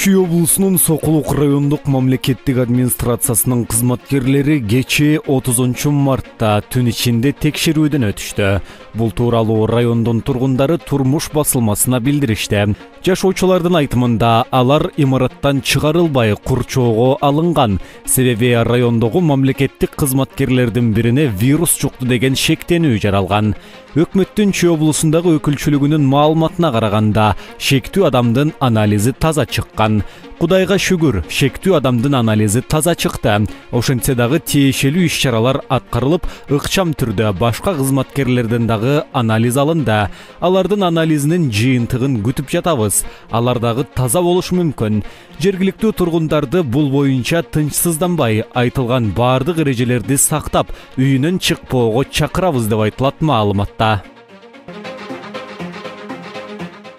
Чүй облусунун Сокулук райондук мамлекеттик администрациясынын кызматкерлери кечээ 30 мартта түн ичинде текшерүүдөн өтүштү. Бул тууралуу райондун тургундары турмуш басылмасына билдиришти. Жашоочулардын айтымында алар имараттан чыгарылбай курчоого алынган. Себеби райондогу мамлекеттик кызматкерлердин бирине вирус жукту деген шектенүү жаралган. Өкмөттүн Чүй облусундагы өкүлчүлүгүнүн маалыматына караганда, шектүү адамдын анализи таза чыккан. Кудайга шүгүр, шектүү адамдын анализи таза чыкты. Ошентсе дагы тиешелүү иш-чаралар аткарылып, ыкчам түрдө башка кызматкерлерден дагы анализ алынды. Алардын анализинин жыйынтыгын күтүп жатабыз. Алар дагы таза болушу мүмкүн. Жергиликтүү тургундарды бул боюнча тынчсызданбай, айтылган бардык эрежелерди сактап, үйүнөн чыкпоого чакырабыз деп айтылат маалыматта.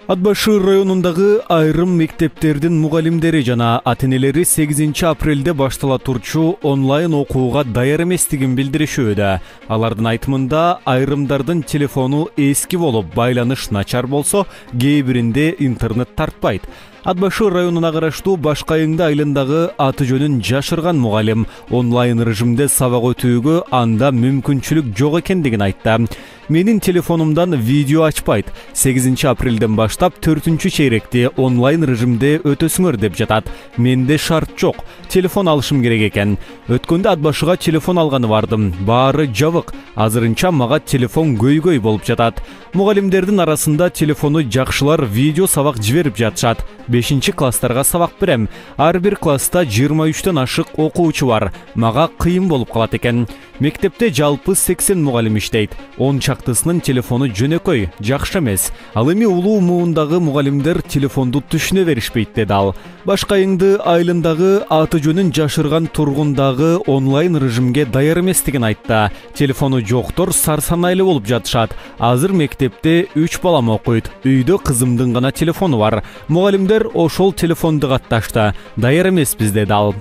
Ат башы районундагы айрым мектептердин мугалимдери жана ата-энелери 8 апрелде баштала турчу онлайн окууга даяр эместигин билдиришүүдө. Алардын айтымында айрымдардын телефону эски болуп, байланыш начар болсо, кээ биринде интернет тартпайт. Ат башы районуна караштуу Башкайыңды айылындагы аты жөнүн жашырган мугалим онлайн режимде сабак өтүүгө анда мүмкүнчүлүк жок экендигин айтты. Менин телефонумдан видео ачпайт. 8 апрелден баштап 4-чейректи онлайн режимде өтөсүңөр деп жатат. Менде шарт жок. Телефон алышым керек экен. Өткөндө ат башыга телефон алганы бардым. Баары жабык. Азырынча мага телефон көйгөй болуп жатат. Мугалимдердин арасында телефону жакшылар видео сабак жиберип жатышат. 5-класстарга сабак берем. Ар бир класста 23төн ашык окуучу бар. Мага кыйын болуп калат экен. Мектепте жалпы 80 мугалим иштейт. 10 чактысынын телефону жөнөкөй, жакшы эмес. Ал эми улуу муундагы мугалимдер телефонду түшүнө беришпейт деди ал. Башкайыңды айылындагы аты жөнүн жашырган тургундагы онлайн режимге даяр эместигин айтты. Телефону жоктор сарсанайлы болуп жатышат. Азыр мектепте 3 балам окуйт. Үйдө кызымдын гана телефону бар. Мугалимдер ошол телефонду катташты. Даяр эмеспиз деди ал.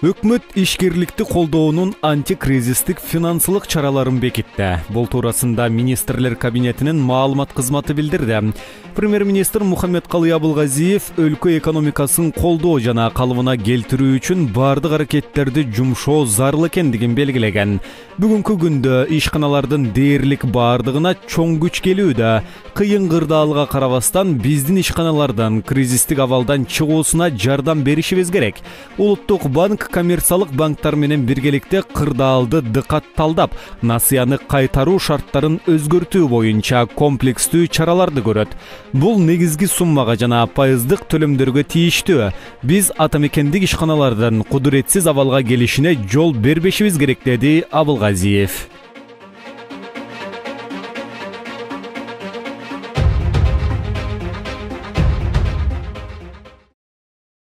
Өкмөт ишкерликти колдоонун антикризистик финансылык чараларын бекитти. Бул туурасында министрлер кабинетинин маалымат кызматы билдирди. Премьер-министр Мухаммедкалый Абылгазиев өлкө экономикасын колдоо жана калыбына келтирүү үчүн бардык аракеттерди жумшоо зарыл экендигин белгилеген. Бүгүнкү күндө ишканалардын дээрлик бардыгына чоң күч келүүдө. Кыйын кырдаалга карабастан биздин ишканалардан кризистик абалдан чыгуусуна жардам беришибиз керек. Улуттук банк коммерциялык банктар менен биргеликте кырдаалды дыкатталдап, насыяны кайтаруу шарттарын өзгөртүү боюнча комплекстүү чараларды көрөт. Бул негизги суммага жана пайыздык төлөмдөргө тийиштүү. Биз атамекендик ишканалардын кудуретсиз абалга келишине жол бербешибиз керек деди Абылгазиев.